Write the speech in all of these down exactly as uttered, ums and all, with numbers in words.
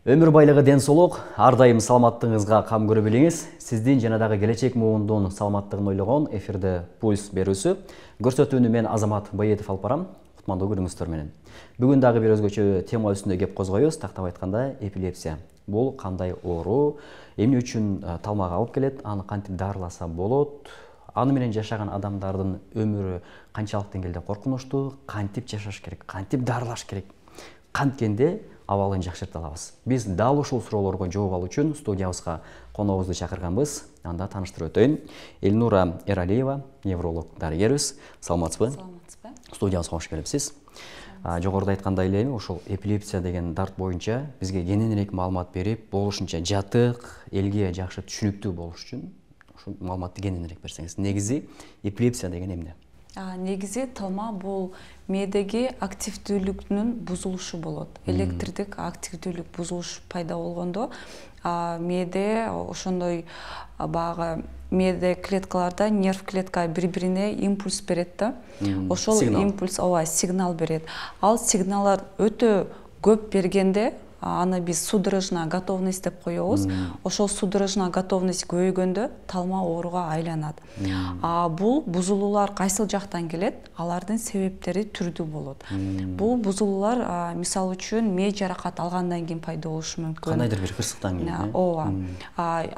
Өмүр байлыгы ден соолук, ар дайым саламаттыгыңызга кам көрө билиңиз. Сиздин жана дагы келечек муундун саламаттыгын ойлогон эфирде пульс берүүсү. Көрсөтүүнү мен Азамат Байетов алып барам. Кутмандуу күнүңүздөр менен. Бүгүн дагы бир өзгөчө тема үстүндө кеп козгойбуз. Тактап айтканда, эпилепсия. Бул кандай оору, эмне үчүн талмага алып келет, аны кантип дарыласа болот, аны менен жашаган адамдардын өмүрү канчалык деңгээлде коркунучтуу, кантип жашаш керек, кантип дарылаш керек, канткенде абалын жакшырта алабыз. Биз дал ушул суроолорго жооп алуу үчүн студиябызга коногубузду чакырганбыз. Анда тааныштырып өтөйүн. Элнура Эралиева, невролог дарыгерибиз. Саламатсызбы? Саламатсызбы? Студиябызга кош келипсиз. Жогоруда айткандай эле, ушул эпилепсия деген дарт боюнча бизге кененирээк маалымат берип, болушунча жатык, элге жакшы түшүнүктүү болуш үчүн ушул маалыматты кененирээк берсеңиз. Негизи эпилепсия деген эмне? Негизи талма бул мээдеги активдүүлүктүн бузулушу болот. Электрдик активдүүлүк бузулуш пайда болгондо мээде ошондой баягы мээде клеткаларда нерв клетка бири-бирине импульс берет да. Ошол импульс ооба сигнал берет. Ал сигналдар өтө көп бергенде аны биз судорожная готовность деп коебуз. Ошол судорожная готовность көбөйгөндө талма ооруга айланат. А бул бузулуулар кайсыл жактан келет? Алардын себептери түрдүү болот. Бул бузулуулар мисалы үчүн мээ жаракат алгандан кийин пайда болушу мүмкүн. Кандайдыр бир кырсыктан кийин. Ооба.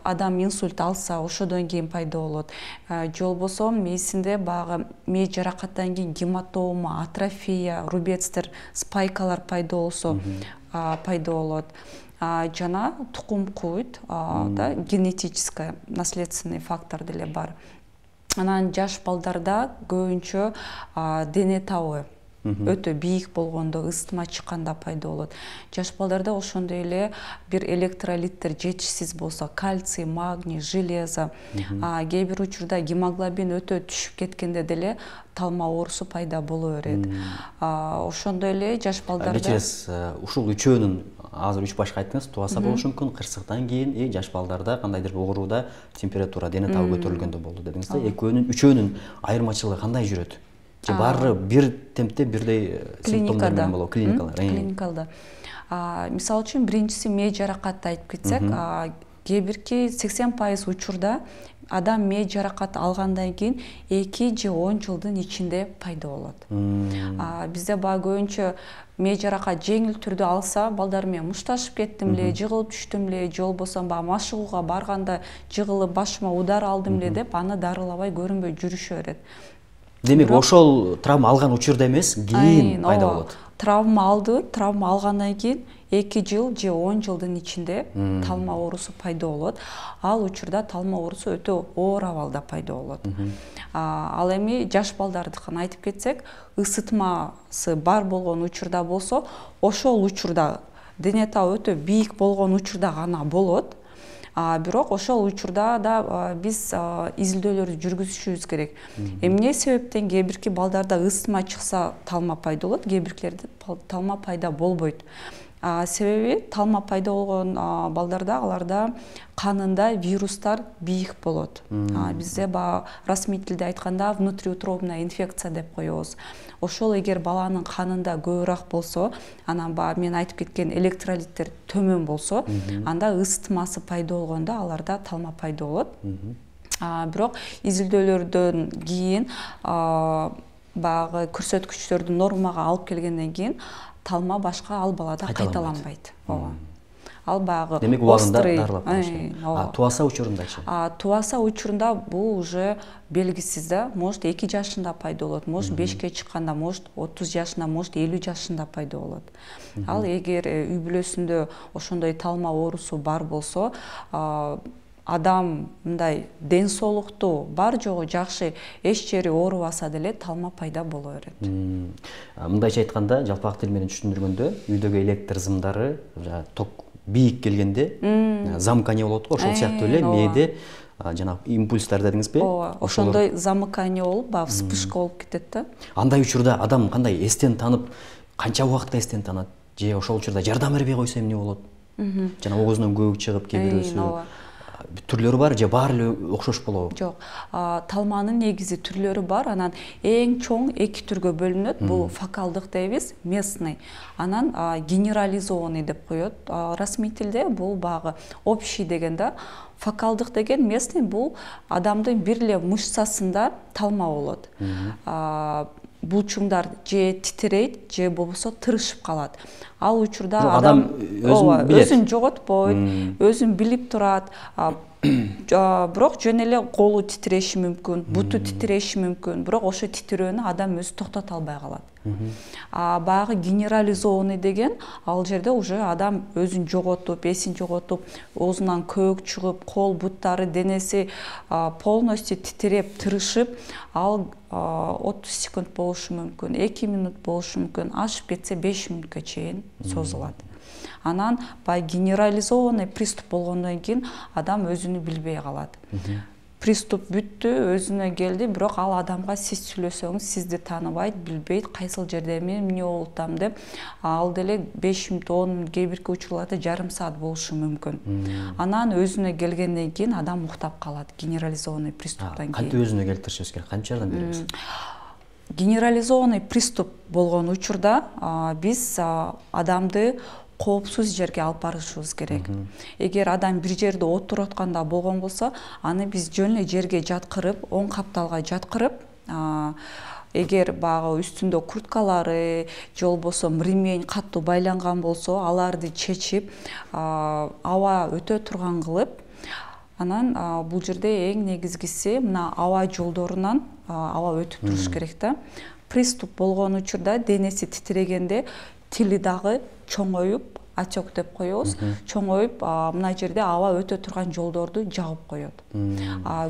Адам инсульт алса, ошодон кийин пайда болот. Же болбосо мээсинде багы мээ жаракаттан кийин гематома, атрофия, рубецтер, спайкалар пайда болсо пайда болот. Жана тукум куйт, да, генетический наследственный фактор деле бар. Анан жаш балдарда көбүнчө дене табы өтө бийик болгондо, ысытма чыкканда пайда болот. Жаш балдарда ошондой эле бир электролиттер жетишсиз болсо, кальций, магний, железо, кээ бир учурда гемоглобин өтө түшүп кеткенде деле талма оорусу пайда боло берет. Ошондой эле жаш балдарда кечиресиз, ушул үчөөнүн азыр үч башка айттыңыз, тубаса болушу мүмкүн, кырсыктан кийин и жаш балдарда кандайдыр ооруда температура, дене табы көтөрүлгөндө болду дедиңиз да. Экөөнүн, үчөөнүн айырмачылыгы кандай жүрөт? Же баары бир темпте бирдей симптомдор менен болобу? Клиникалар. Клиникалда. Мисалы үчүн биринчиси мээ жаракатты айтып кетсек, кээ бирки сексен пайыз учурда адам мээ жаракат алгандан кийин эки же он жылдын ичинде пайда болот. Бизде баа көбүнчө мээ жаракат жеңил түрдө алса, балдар менен мушташып кеттим эле, жыгылып түштүм эле, же болбосо баа машыгууга барганда жыгылып башыма удар алдым эле деп аны дарылабай көрүнбөй жүрүшө берет. Демек, ошол травма алган учурда эмес, кийин пайда болот. Травма алды, травма алгандан кийин эки жыл же он жылдын ичинде талма оорусу пайда болот. Ал учурда талма оорусу өтө оор абалда пайда болот. Ал эми жаш балдардыкын айтып кетсек, ысытмасы бар болгон учурда болсо, ошол учурда дене табы өтө бийик болгон учурда гана болот. Бирок ошол учурда да биз изилдөөлөрдү жүргүзүшүбүз керек. Эмне себептен кээ бирки балдарда ысытма чыкса талма пайда болот, кээ биркилерде талма пайда болбойт. Себеби талма пайда болгон балдарда аларда канында вирустар бийик болот. Бизде баа расмий тилде айтканда внутриутробная инфекция деп коебуз. Ошол эгер баланын канында көбүрөөк болсо, анан баа мен айтып кеткен электролиттер төмөн болсо, анда ысытмасы пайда болгондо аларда талма пайда болот. Бирок изилдөөлөрдөн кийин баягы көрсөткүчтөрдү нормага алып келгенден кийин талма башка ал балада кайталанбайт. Ооба. Ал багы демек убагында дарылап коюш керек. Тубаса учурундачы? Тубаса учурунда бул уже белгисиз да. Может эки жашында пайда болот, может бешке чыкканда, может отуз жашында, может элүү жашында пайда болот. Ал эгер үй бүлөсүндө ошондой талма оорусу бар болсо, адам мындай ден соолуктуу, бар жогу жакшы, эч жери оорубаса деле талма пайда боло берет. Мындайча айтканда, жалпак тил менен түшүндүргөндө, үйдөгү электр зымдары ток бийик келгенде замыкание болот го, ошол сыяктуу эле мээде жана импульстар дедиңизби? Ооба, ошондой замыкание болуп, баягы вспышка болуп кетет да. Андай учурда адам кандай эстен танып, канча убакытта эстен танат? Же ошол учурда жардам бербей койсо эмне болот? Жана оозунан көбүк чыгып, кээ бирөөсү түрлөрү бар же баары эле окшош болобу? Жок, талманын негизи түрлөрү бар. Анан эң чоң эки түргө бөлүнөт. Бул фокалдык дейбиз, местный. Анан генерализованный деп коет расмий тилде. Бул багы общий деген да. Фокалдык деген местный, бул адамдын бир эле мышцасында талма болот. Булчуңдар же титирейт, же болбосо тырышып калат. Ал учурда адам өзүн жоготпойт, өзүн билип турат. Бирок жөн эле колу титиреши мүмкүн, буту титиреши мүмкүн, бирок ошо титирөөнү адам өзү токтото албай калат. А баягы генерализованный деген ал жерде уже адам өзүн жоготуп, эсин жоготуп, оозунан көөк чыгып, кол буттары, денеси полностью титиреп, тырышып, ал отуз секунд болушу мүмкүн, эки минут болушу мүмкүн, ашып кетсе беш мүнөткө чейин созулат. Анан баягы генерализованный приступ болгондон кийин адам өзүнү билбей калат. Приступ бүттү, өзүнө келди, бирок ал адамга сиз сүйлөсөңүз сизди тааныбайт, билбейт, кайсыл жерде мен эмне болуп атам деп, ал деле беш мүнөт, он мүнөт, кээ бирки учурларда жарым саат болушу мүмкүн. Анан өзүнө келгенден кийин адам уктап калат, генерализованный приступтан кийин. Кантип өзүнө келтиришибиз керек? Канча жардам беребиз? Генерализованный приступ болгон учурда биз адамды коопсуз жерге алып барышыбыз керек. Эгер адам бир жерде отуруп атканда болгон болсо, аны биз жөн эле жерге жаткырып, оң капталга жаткырып, эгер багы үстүндө курткалары же болбосо ремень катуу байланган болсо, аларды чечип, аба өтө турган кылып, анан бул жерде эң негизгиси мына аба жолдорунан аба өтүп туруш керек да. Приступ болгон учурда денеси титирегенде тили дагы чоңоюп, отек деп коебуз, чоңоюп, мына жерде аба өтө турган жолдорду жабып коет.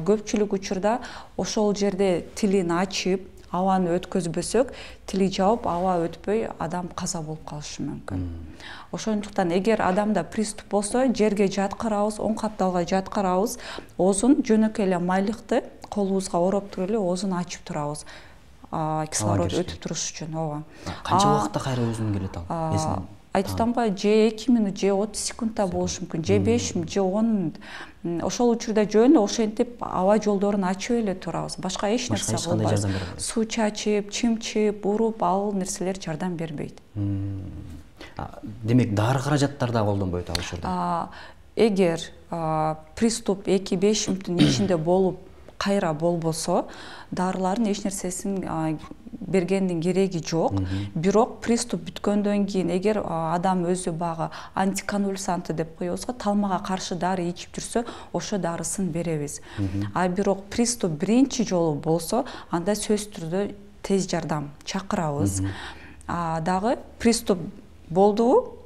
Көпчүлүк учурда ошол жерде тилин ачып, абаны өткөзбөсөк, тили жабып, аба өтпөй, адам каза болуп калышы мүмкүн. Ошондуктан эгер адамда приступ болсо, жерге жаткырабыз, оң капталга жаткырабыз, оозун жөнөкөй эле майлыкты колубузга ороп туруп эле оозун ачып турабыз. Кислород өтүп туруш үчүн, ооба. Канча убакытта кайра өзүнө келет ал? Айтып атамбы, же эки минут, же отуз секундта болушу мүмкүн, же беш мүнөт, же он мүнөт. Ошол учурда жөн эле ошентип аба жолдорун ачып эле турабыз. Башка эч нерсе кылбайбыз. Суу чачып, чымчып, уруп, ал нерселер жардам бербейт. Демек, дары каражаттар да колдонбойт ал учурда? Эгер приступ эки беш мүнөттүн ичинде болуп, кайра болбосо, дарылардын эч нерсесин бергендин кереги жок. Бирок приступ бүткөндөн кийин, эгер адам өзү багы антиконвульсанты деп коебуз го, талмага каршы дары ичип жүрсө, ошо дарысын беребиз. А бирок приступ биринчи жолу болсо, анда сөзсүз түрдө тез жардам чакырабыз. Дагы приступ болдубу?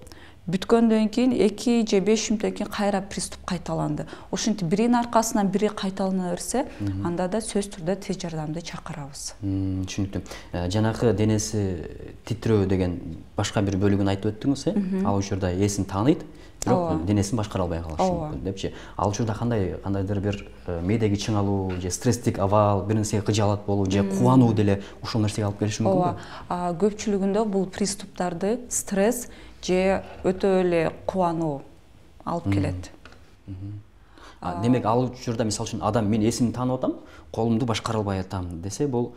Бүткөндөн кийин эки же беш мүнөттөн кийин кайра приступ кайталанды. Ошентип биринин аркасынан бири кайталана берсе, анда да сөзсүз түрдө тез жардамды чакырабыз. Түшүнүктүү. Жанагы денеси титирөө деген башка бир бөлүгүн айтып өттүңүз, э? Ал учурда эсин тааныйт, бирок денесин башкара албай калышы мүмкүн депчи. Ал учурда кандай кандайдыр бир мээдеги чыңалуу же стресстик абал, бир нерсеге кыжаалат болуу же кубануу деле ушул нерсеге алып келиши мүмкүнбү? Ооба. Көпчүлүгүндө бул приступтарды стресс же өтө эле кубануу алып келет. Демек, ал учурда мисалы үчүн адам мен эсимди таанып атам, колумду башкара албай атам десе, бул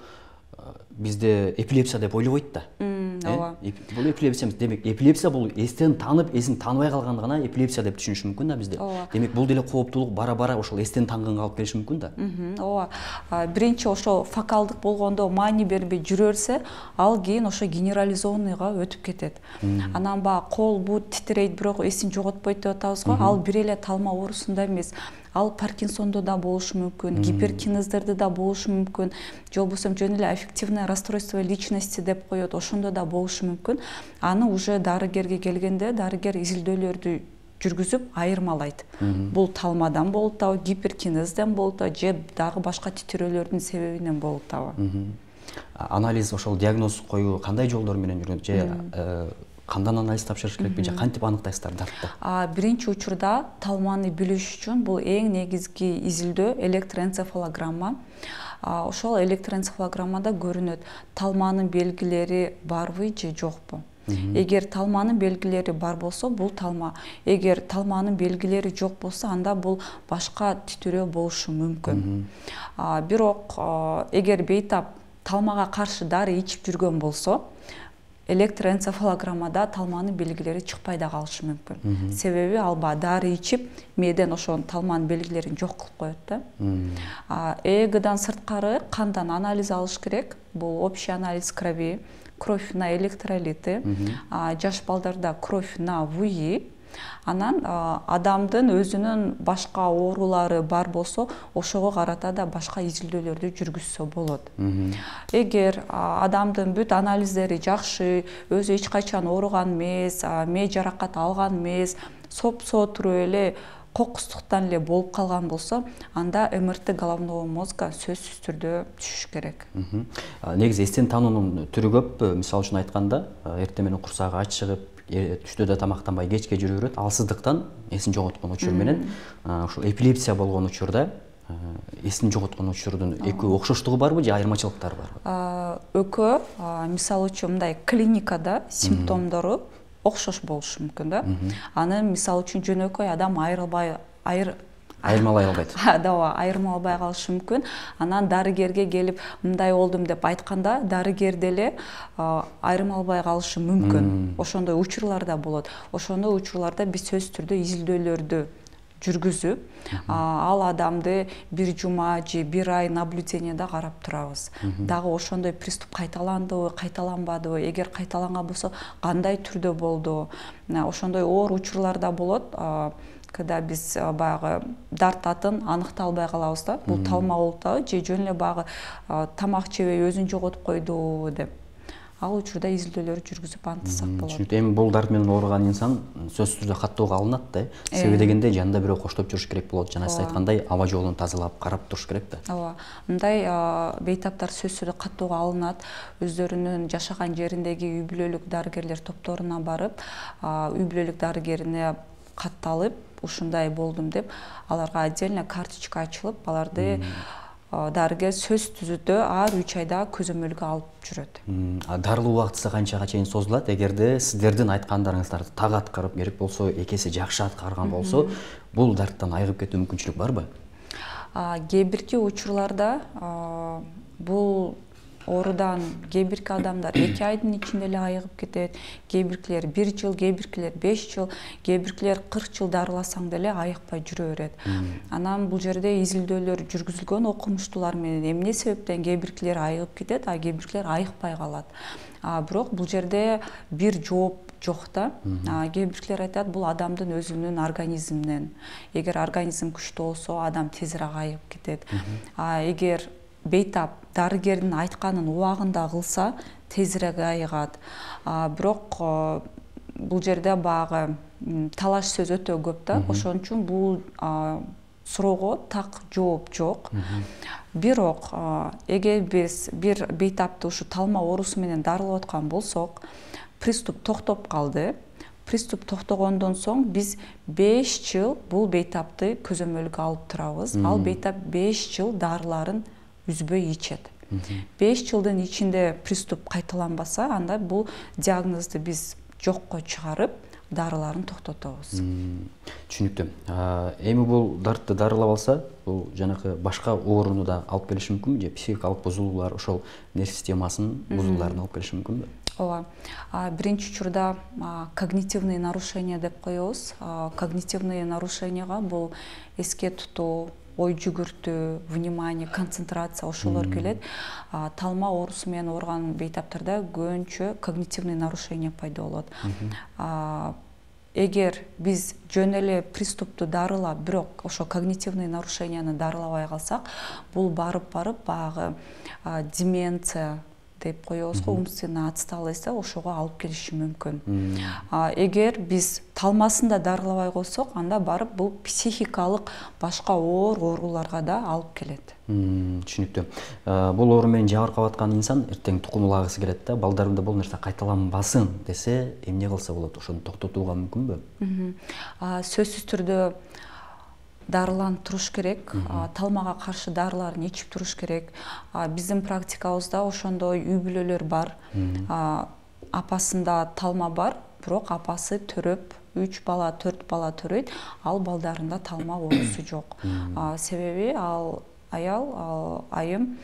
бизде эпилепсия деп ойлобойт да. Ооба. Бул эпилепсия, демек, эпилепсия бул эстен таанып, эсин тааныбай калганды гана эпилепсия деп түшүнүш мүмкүн да бизде. Демек, бул деле кооптуулук бара-бара ошол эстен таанганга алып келиши мүмкүн да. Ооба. Биринчи ошо фокалдык болгондо маани бербей жүрө берсе, ал кийин ошо генерализованныйга өтүп кетет. Анан ба кол, бут титирейт, бирок эсин жоготпойт деп атабыз го, ал бир эле талма оорусунда эмес. Ал Паркинсондо да болушу мүмкүн, гиперкинездерде да болушу мүмкүн, же болбосо жөн эле аффективное расстройство личности деп коет, ошондо да болушу мүмкүн. Аны уже дарыгерге келгенде, дарыгер изилдөөлөрдү жүргүзүп айырмалайт. Бул талмадан болуп атабы, гиперкинезден болуп атабы, же дагы башка титирөөлөрдүн себебинен болуп атабы. Анализ, ошол диагноз коюу кандай жолдор менен жүрөт? Же кандан анализ тапшырыш керекпи, же кантип аныктайсыздар дартты? Биринчи учурда талманы билиш үчүн бул эң негизги изилдөө электроэнцефалограмма. Ошол электроэнцефалограммада көрүнөт талманын белгилери барбы же жокпу. Эгер талманын белгилери бар болсо, бул талма. Эгер талманын белгилери жок болсо, анда бул башка титирөө болушу мүмкүн. Бирок эгер бейтап талмага каршы дары ичип жүргөн болсо, электроэнцефалограммада талманын белгилери чыкпай да калышы мүмкүн. Себеби ал баягы дары ичип, мээден ошонун талманын белгилерин жок кылып коет да. ЭЭГдан сырткары кандан анализ алыш керек. Бул общий анализ крови, кровь на электролиты, жаш балдарда кровь на ВУИ. Анан адамдын өзүнүн башка оорулары бар болсо, ошого карата да башка изилдөөлөрдү жүргүзсө болот. Эгер адамдын бүт анализдери жакшы, өзү эч качан ооруган эмес, мээ жаракат алган эмес, сопсоо туруп эле кокустуктан эле болуп калган болсо, анда МРТ головного мозга сөзсүз түрдө түшүш керек. Негизи эстен таануунун түрү көп. Мисалы үчүн айтканда, эртең менен курсагы ач чыгып, түштө да тамактанбай кечке жүрө берет. Алсыздыктан эсин жоготкон учур менен ушул эпилепсия болгон учурда эсин жоготкон учурдун экөө окшоштугу барбы же айырмачылыктары барбы? Экөө, мисалы үчүн мындай клиникада симптомдору окшош болушу мүмкүн да. Аны мисалы үчүн жөнөкөй адам айрылбай айыр айырмалай албайт. Ооба, айырмалбай калышы мүмкүн. Анан дарыгерге келип мындай болдум деп айтканда, дарыгер деле айырмалбай калышы мүмкүн. Ошондой учурлар да болот. Ошондой учурларда биз сөзсүз түрдө изилдөөлөрдү жүргүзүп, ал адамды бир жума же бир ай наблюденияда карап турабыз. Дагы ошондой приступ кайталандыбы, кайталанбадыбы, эгер кайталанган болсо кандай түрдө болду. Ошондой оор учурлар да болот. Когда биз баягы дартатын аныкталбай калабыз да, бул талма болуп атабы же жөн эле баягы тамак жебей өзүн жоготуп койдубу деп. Ал учурда изилдөөлөр жүргүзүп антысак болот. Түшүнүктүү. Эми бул дарт менен ооруган инсан сөзсүз түрдө каттоого алынат да. Себеби дегенде жанында бирөө коштоп жүрүш керек болот. Жана сиз айткандай аба жолун тазалап, карап туруш керек да. Ооба. Мындай бейтаптар сөзсүз түрдө каттоого алынат. Өздөрүнүн жашаган жериндеги үй бүлөлүк дарыгерлер топторуна барып, үй бүлөлүк дарыгерине катталып, ушундай болдум деп, аларга отдельно карточка ачылып, аларды дарыгер сөзсүз түрдө ар үч айда көзөмөлгө алып жүрөт. Дарылуу убактысы канчага чейин созулат? Эгерде сиздердин айткандарыңыздарды так аткарып, керек болсо эки эсе жакшы аткарган болсо, бул дарттан айыгып кетүү мүмкүнчүлүк барбы? Кээ бирки учурларда бул оорудан кээ бирки адамдар эки айдын ичинде эле айыгып кетет, кээ биркилер бир жыл, кээ биркилер беш жыл, кээ биркилер кырк жыл дарыласаң деле айыкпай жүрө берет. Анан бул жерде изилдөөлөр жүргүзүлгөн окумуштуулар менен эмне себептен кээ биркилер айыгып кетет, а кээ биркилер айыкпай калат. Бирок бул жерде бир жооп жок да. Кээ биркилер айтат, бул адамдын өзүнүн организминен. Эгер организм күчтүү болсо, адам тезирээк айыгып кетет. Эгер бейтап дарыгердин айтканын убагында кылса, тезирээк айыгат. Бирок бул жерде баягы талаш сөз өтө көп да. Ошон үчүн бул суроого так жооп жок. Бирок эгер биз бир бейтапты ушу талма оорусу менен дарылап аткан болсок, приступ токтоп калды. Приступ токтогондон соң биз беш жыл бул бейтапты көзөмөлгө алып турабыз. Ал бейтап беш жыл дарыларын үзбөй ичет. беш жылдын ичинде приступ кайталанбаса, анда бул диагнозду биз жокко чыгарып, дарыларын токтотобуз. Түшүнүктүү. Эми бул дартты дарылап алса, бул жанакы башка ооруну да алып келиши мүмкүнбү же психикалык бузулуулар, ошол нерв системасынын бузулууларын алып келиши мүмкүнбү? Ооба. Биринчи учурда когнитивный нарушение деп коебуз. Когнитивный нарушенияга бул эске тутуу, ой жүгүртүү, внимание, концентрация ошолор келет. Талма оорусу менен ооруган бейтаптарда көбүнчө когнитивный нарушение пайда болот. Эгер биз жөн эле приступту дарылап, бирок ошо когнитивный нарушенияны дарылабай калсак, бул барып-барып баягы деменция деп коебуз го, умственная отсталость, ошого алып келиши мүмкүн. Эгер биз талмасын да дарылабай койсок, анда барып бул психикалык башка оор ооруларга да алып келет. Түшүнүктүү. Бул оору менен жабыркап аткан инсан эртең тукумулагысы келет да, балдарымда бул нерсе кайталанбасын десе, эмне кылса болот? Ошону токтотууга мүмкүнбү? Сөзсүз түрдө дарыланып туруш керек. Талмага каршы дарыларын ичип туруш керек. Биздин практикабызда ошондой үй бүлөлөр бар. апасында талма бар, бирок апасы төрөп, үч бала, төрт бала төрөйт, ал балдарында талма оорусу жок. Себеби ал аял, ал айым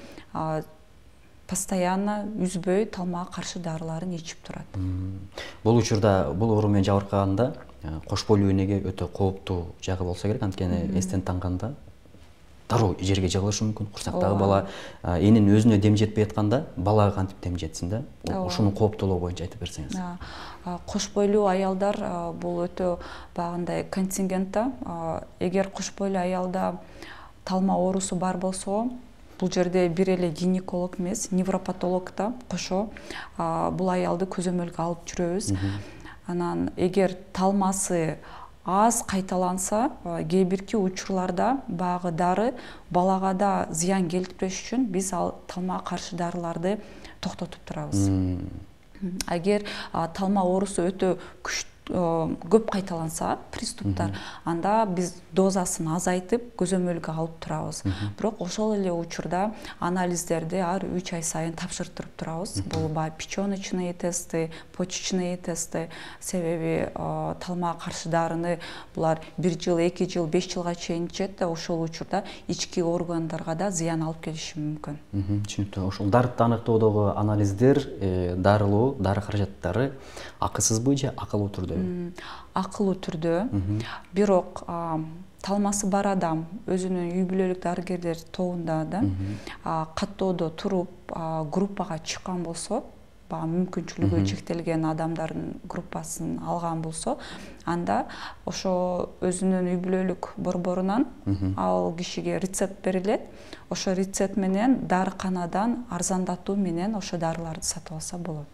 постоянно үзбөй талмага каршы дарыларын ичип турат. Бул учурда бул оору менен жабыркаганда кош бойлуу энеге өтө кооптуу жагы болсо керек, анткени эстен танганда дароо жерге жыгылышы мүмкүн. Курсактагы бала эненин өзүнө дем жетпей атканда балага кантип дем жетсин да? Ошонун кооптуулугу боюнча айтып берсеңиз. Кош бойлуу аялдар бул өтө багындай контингентта. Эгер кош бойлуу аялда талма оорусу бар болсо, бул жерде бир эле гинеколог эмес, невропатолог да кошо бул аялды көзөмөлгө алып жүрөбүз. Анан эгер талмасы аз кайталанса, кээ бирки учурларда багы дары балага да зыян келтирбеш үчүн биз ал талмага каршы дарыларды токтотуп турабыз. Эгер талма оорусу өтө күчтүү көп кайталанса, приступтар, анда биз дозасын азайтып көзөмөлгө алып турабыз. Бирок ошол эле учурда анализдерди ар үч ай сайын тапшыртып турабыз. Бул баягы печёночный тесты, почечный тесты. Себеби талмага каршы дарыны булар бир жыл, эки жыл, беш жылга чейин ичет да, ошол учурда ички органдарга да зыян алып келиши мүмкүн. Түшүнүктүү. Ошол дарытты аныктоодогу анализдер, дарылоо, дары каражаттары акысызбы же акылуу түрдө? Акылуу түрдө. Бирок талмасы бар адам өзүнүн үй бүлөлүк дарыгерлер тобунда да каттоодо туруп группага чыккан болсо, мүмкүнчүлүгү чектелген адамдардын группасын алган болсо, анда ошо өзүнүн үй бүлөлүк борборунан ал кишиге рецепт берилет. Ошо рецепт менен дарыканадан арзандатуу менен ошо дарыларды сатып алса болот.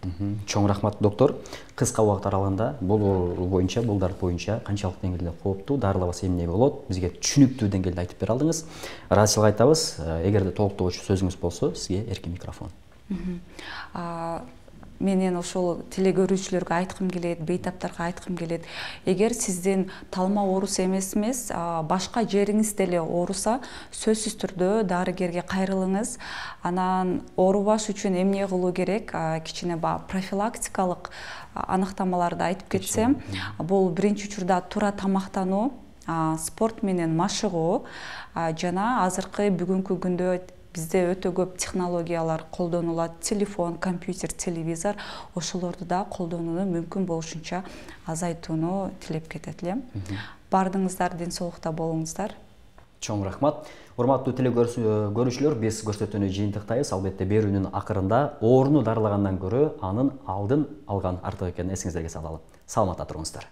Чоң рахмат, доктор. Кыска убакыт аралыгында бул оору боюнча, бул дарт боюнча канчалык деңгээлде кооптуу, дарылабаса эмне болот, бизге түшүнүктүү деңгээлде айтып бере алдыңыз. Ыраазычылык айтабыз. Эгерде толуктогучу сөзүңүз болсо, сизге эркин микрофон. Менен ошол теле көрүүчүлөргө айткым келет, бейтаптарга айткым келет. Эгер сиздин талма оорусу эмес эмес, башка жериңиз деле ооруса, сөзсүз түрдө дарыгерге кайрылыңыз. Анан оорубаш үчүн эмне кылуу керек? Кичине баягы профилактикалык аныктамаларды айтып кетсем, бул биринчи учурда туура тамактануу, спорт менен машыгуу жана азыркы бүгүнкү күндө бизде өтө көп технологиялар колдонулат. Телефон, компьютер, телевизор, ошолорду да колдонууну мүмкүн болушунча азайтууну тилеп кетет элем. Бардыңыздар, ден соолукта болуңуздар. Чоң рахмат. Урматтуу теле көрүүчүлөр, биз көрсөтүүнү жыйынтыктайбыз. Албетте берүүнүн акырында ооруну дарылагандан көрө анын алдын алган артык экенин эсиңиздерге салалы. Саламатта туруңуздар.